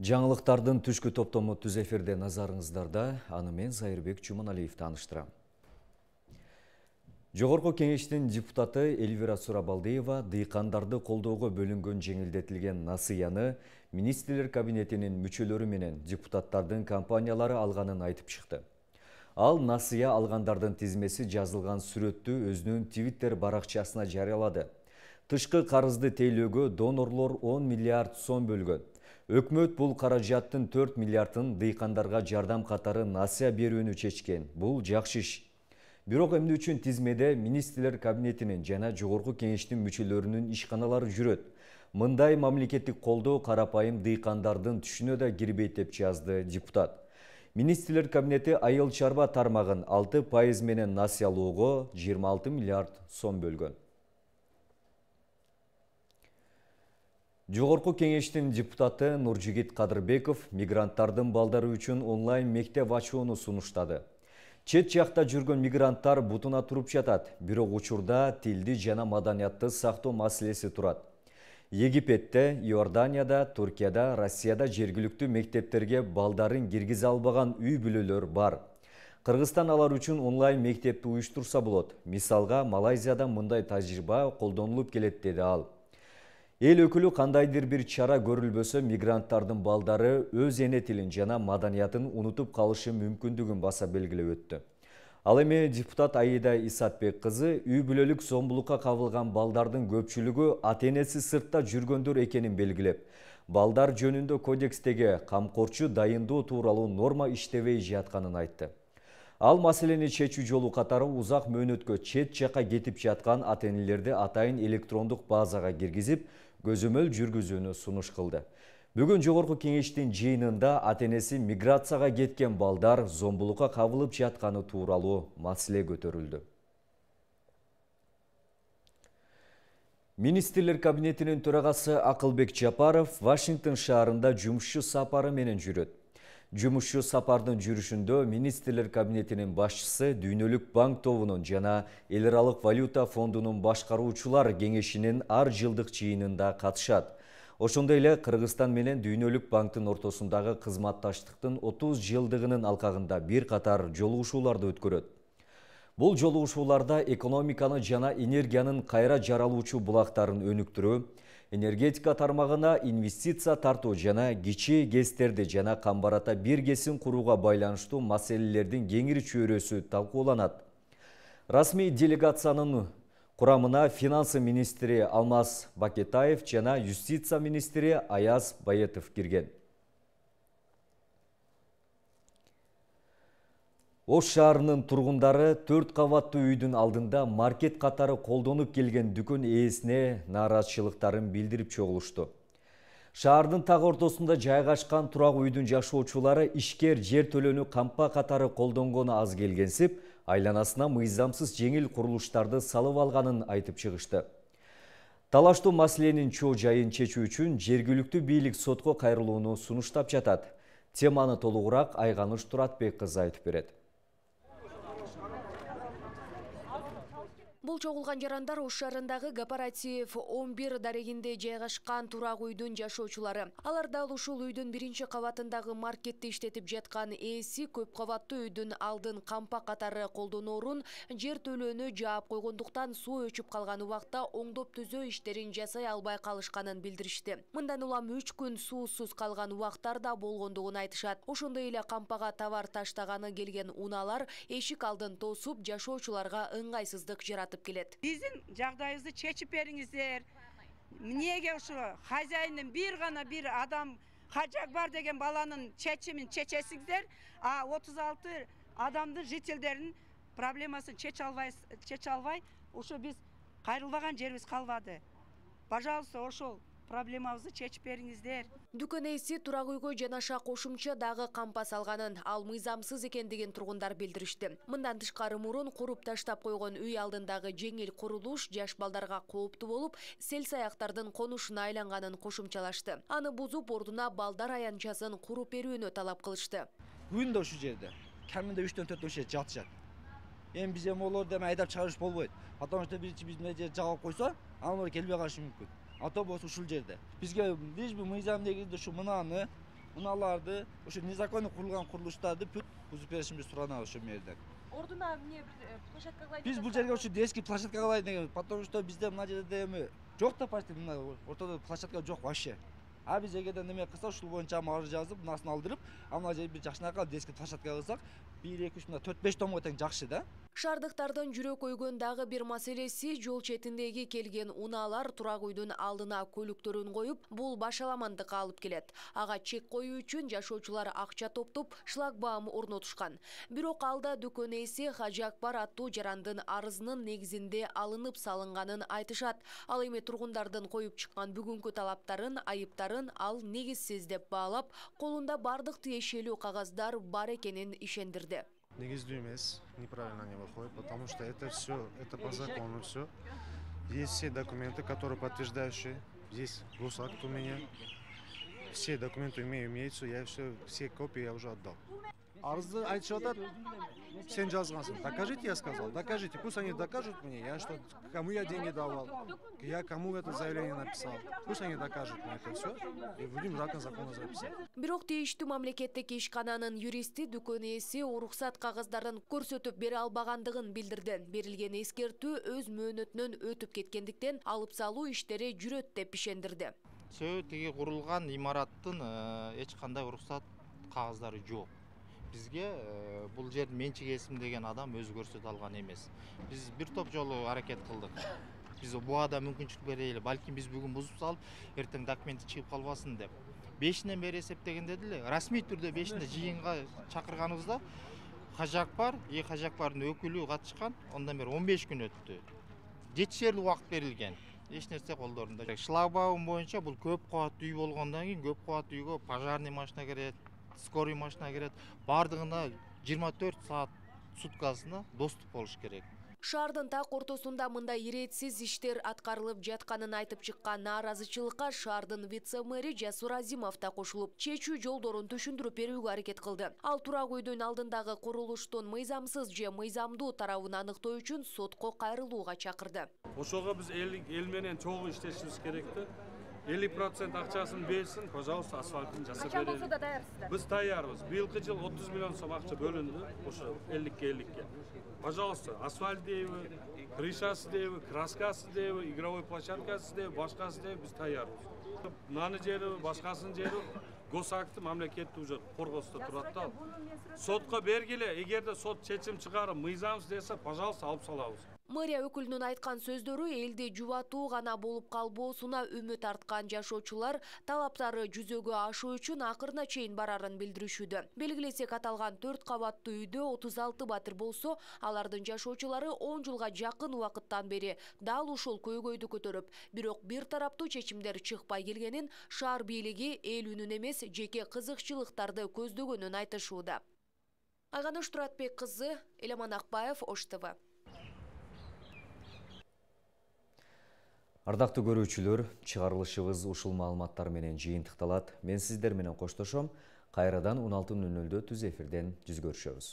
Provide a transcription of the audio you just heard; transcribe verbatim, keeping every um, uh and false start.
Жаңылыктардын түшкү топтому түз эфирде назарыңыздарда, аны мен Зайырбек Чуманалиев тааныштырам. Жогорку кеңештин депутаты Эльвира Сурабалдиева дыйкандарды колдоого бөлүнгөн жеңилдетилген насыяны министрлер кабинетинин мүчөлөрү менен депутаттардын компаниялары алганын айтып чыкты. Ал насыя алгандардын тизмеси жазылган сүрөттү өзүнүн Twitter баракчасына жарыялады. Тышкы карызды тейлөөгө донорлор он миллиард сом бөлгөн. Өкмөт бул каражаттын төрт миллиардын дыйкандарга жардам катары насыя берүүнү чечкен. Бул жакшы иш. Бирок эмне үчүн тизмеде министрлер кабинетинин жана жогорку кеңештин мүчөлөрүнүн ишканалары жүрөт? Мындай мамлекеттик колдоо карапайым дыйкандардын түшүнө да кирбейт деп жазды депутат. Министрлер кабинети айыл чарба тармагын алты пайыз менен насыялоого жыйырма алты миллиард сом бөлгөн. Жогорку кеңештин депутаты Нуржигит Кадырбеков мигранттардын балдары үчүн онлайн мектеп ачууну сунуштады. Чет жакта жүргөн мигранттар бутуна туруп жатат, бирок учурда тилди жана маданиятты сактоо маселеси турат. Египетте, Иорданияда, Туркияда, Россияда жергиликтүү мектептерге балдарын киргизе албаган үй бүлөлөр бар. Кыргызстан алар үчүн онлайн мектепти уюштурса болот. Мисалга, Малайзияда мындай тажрыйба колдонулуп келет, деди ал. Эл өкүлү кандайдыр бир чара көрүлбөсө мигранттардын балдары өз эне тилин жана маданиятын унутуп калышы мүмкүндүгүн баса белгилеп өттү. Ал эми депутат Аида Исатбек кызы үй бүлөлүк зомбулукка кабылган балдардын көпчүлүгү ата-энеси сыртта жүргөндөр экенин белгилеп, балдар жөнүндө кодекстеги камкорчу дайындоо тууралуу норма иштебей жатканын айтты. Ал маселени чечүү жолу катары узак мөөнөткө чет жакка кетип жаткан ата-энелерди атайын электрондук базага киргизип, көзөмөл жүргүзүүнү сунуш кылды. Бүгүн жогорку кеңештин жыйынында ата-энеси миграцияга кеткен балдар зомбулукка кабылып жатканы тууралуу маселе көтөрүлдү. Министрлер кабинетинин төрагасы Акылбек Жапаров Вашингтон шаарында жумушчу сапары менен жүрөт. Жумушчу сапардын жүрүшүндө министрлер кабинетинин башчысы Дүйнөлүк банк тобунун жана эл аралык валюта фондунун башкаруучулар кеңешинин ар жылдык жыйынында катышат. Ошондой эле Кыргызстан менен Дүйнөлүк банктын ортосундагы кызматташтыктын отуз жылдыгынын алкагында бир катар жолугушууларды өткөрөт. Бул жолугушууларда экономиканы жана энергиянын кайра жаралуучу булактарын өнүктүрүү, энергетика тармагына инвестиция тартуу жана кичи гэстерди жана камбарата бир кесин курууга байланыштуу маселелердин кеңири чөйрөсү талкууланат. Расмий делегациянын курамына финансы министри Алмаз Бакетаев жана юстиция министри Аяз Баетов кирген. Ош шаарынын тургундары төрт кабаттуу үйдүн алдында маркет катары колдонуп келген дүкөн ээсине нааразычылыктарын билдирип чогулушту. Шаардын так ортосунда жайгашкан турак үйдүн жашоочулары ишкер жер төлөөнү кампа катары колдонгону аз келгенсип, айланасына мыйзамсыз жеңил курулуштарды салып алганын айтып чыгышты. Талаштуу маселенин чоо жайын чечүү үчүн жергиликтүү бийлик сотко кайрылууну сунуштап жатат. Теманы толугураак Айганыш Туратбек кызы айтып берет. Бул чогулган жарандар Ош шаарындагы кооператив он бир дарегинде жайгашкан турак үйдүн жашоочулары. Алар дал ушул үйдүн биринчи кабатындагы маркетти иштетип жаткан ээси көп кабаттуу үйдүн алдын кампа катары колдоноорун жер төлөөнү жаап койгондуктан суу өчүп калган убакта оңдоп түзөө иштерин жасай албай калышканын билдиришти. Мындан улам үч күн суусуз калган убактар да болгондугун айтышат. Ошондой эле кампага товар таштаганы келген унаалар эшик алдын тосуп жашоочуларга ыңгайсыздык жаратып келет. Биздин жагдайыбызды чечип бериңиздер. Эмнеге ушу хозяиндин бир гана бир адам хажак бар деген баланын чечимин чечесиңиздер, а отуз алты адамдын жителдеринин проблемасын чече албай, чече албай, ушу биз кайрылбаган жерибиз калбады. Пожалуйста, ошол проблемабызды чечип бериңиздер. Дүкөн ээси турак үйгө жанаша кошумча дагы кампа салганын, ал мыйзамсыз экендигин тургундар билдиришти. Мындан тышкары мурун куруп таштап койгон үй алдындагы жеңил курулуш жаш балдарга кооптуу болуп, сел-саяктардын конушуна айланганын кошумчалашты. Аны бузуп, ордуна балдар аянтчасын куруп берүүнү талап кылышты. Күндө ушул жерде каминде үчтөн төртөн киши жатышат. Эми биз эми олорду эми айдап чыгарыш болбойт. Потому что биринчи биз мына жерди жагып койсо, анын келбей калышы мүмкүн. Ата болсо ушул жерде. Бизге лишь бы мыйзам негизинде ушу мынаны унааларды, ошо незаконно курулган курулуштарды бүт бузуп беришимизди суранабыз ошол жерден. Ордуна эмне бир площадка кылайын? Биз бул жерге ошо детский площадка кылайын деген, потому что бизде мына жерде эми жок да почти мына ортодо площадка жок вообще. А биз эгерден неме кылсак, ушул боюнча арыз жазып, мынасын алдырып, а мына жерде бир жакшынакай детский площадка кылсак, бир эки үч мына төрт беш томго тең жакшы да. Шаардыктардын жүрөк ойгон дагы бир маселеси жол четиндеги келген унаалар турак үйдүн алдына көлүктөрүн коюп, бул башаламандыкка алып келет. Ага чек коюу үчүн жашоочулар акча топтоп, шлагбаум орнотушкан. Бирок алда дүкөн ээси Хажы Акбар аттуу жарандын арызынын негизинде алынып салынганын айтышат. Ал эми тургундардын коюп чыккан бүгүнкү талаптарын, айыптарын ал негизсиз деп баалап, колунда бардык тиешелүү кагаздар бар экенин ишендирди. Негиздүү эмес, неправильно они выходят, потому что это все, это по закону все. Есть все документы, которые подтверждающие. Здесь госакт у меня. Все документы имею, имеются, я все, все копии я уже отдал. Арызды айтышып атат, сен жазгансың. Докажите, я сказал, докажите. Пусть они докажут мне, я что, кому я деньги давал, я кому это заявление написал. Пусть они докажут мне это все, и будем раком закона записать. Бирок тийиштүү мамлекеттик ишкананын юристи дүкөн ээси уруксат кагыздарын көрсөтүп бере албагандыгын билдирди. Берилген эскертүү өз мөөнөтүнөн өтүп кеткендиктен алып салуу иштери жүрөт деп ишендирди. Сөө тиги курулган имараттын эч кандай уруксат кагаздары жок. Бизге бул жер менчик эсим деген адам өзү көрсөтө алган эмес. Биз бир топ жолу аракет кылдык. Биз буада мүмкүнчүлүк берели, балким биз бүгүн бузуп салып, эртең документи чыгып калбасын деп. бешинен бери эсептегенде деле расмий түрдө бешинде жыйынга чакырганыбызда Хажы Акбар, и Хажы Акбардын өкүлү катышкан, ондан бери он беш күн өттү. Жетишерлик убакыт берилген. Эч нерсе колдорунда. Шлагбаум боюнча бул көп кабаттуу үй болгондон кийин көп кабаттуу үйгө пожарный машина керет, скорый машина керет, бардыгына жыйырма төрт саат суткасына доступ болуш керек. Шаардын так ортосунда мындай иретсиз иштер аткарылып жатканын айтып чыккан нааразычылыкка шаардын вице-мэри Жасур Азимов да кошулуп, чечүү жолдорун түшүндүрүп берүүгө аракет кылды. Ал турак үйдүн алдындагы курулуштун мыйзамсыз же мыйзамдуу тарабын аныктоо үчүн сотко кайрылууга чакырды. Ошого биз эл менен чогуу иштешибиз керек да. элүү процент акчасын берсин, пожалуйста, асфальтын жасап берели. Качан болсо да даярсыздар. Биз даярбыз. Быйылкы жыл отуз миллион сом акча бөлүндү, ошо элүүкке элүүкке. Пожалуйста, асфальт дейби, крышасы дейби, краскасы дейби, игровой площадкасы дейби, башкасы дейби биз даярбыз. Наны жери, башкасын жери госакты мамлекеттик уже коргосто турат да. Сотко бергиле, эгерде сот чечим чыгарып мыйзамсыз десе, пожалуйста, алып салабыз. Мэрия өкүлүнүн айткан сөздөрү элди жубатуу гана болуп калбоосуна үмүт арткан жашоочулар талаптары жүзөгө ашуу үчүн акырына чейин барарын билдиришүүдө. Белгилесек, аталган төрт кабаттуу үйдө отуз алты батир болсо, алардын жашоочулары он жылга жакын убакыттан бери дал ушул көйгөйдү көтөрүп, бирок бир тараптуу чечимдер чыкпай келгенин, шаар бийлиги эл үнүн эмес, жеке кызыкчылыктарды көздөгөнүн айтышууда. Айганыш Туратбек кызы, Элеман Акбаев, Ош ТВ. Ардактуу көрүүчүлөр, чыгарылышыбыз ушул маалыматтар менен жыйынтыкталат. Мен сиздер менен коштошом. Кайрадан он алты нөл нөлдө түз эфирден жүз көрүшөбүз.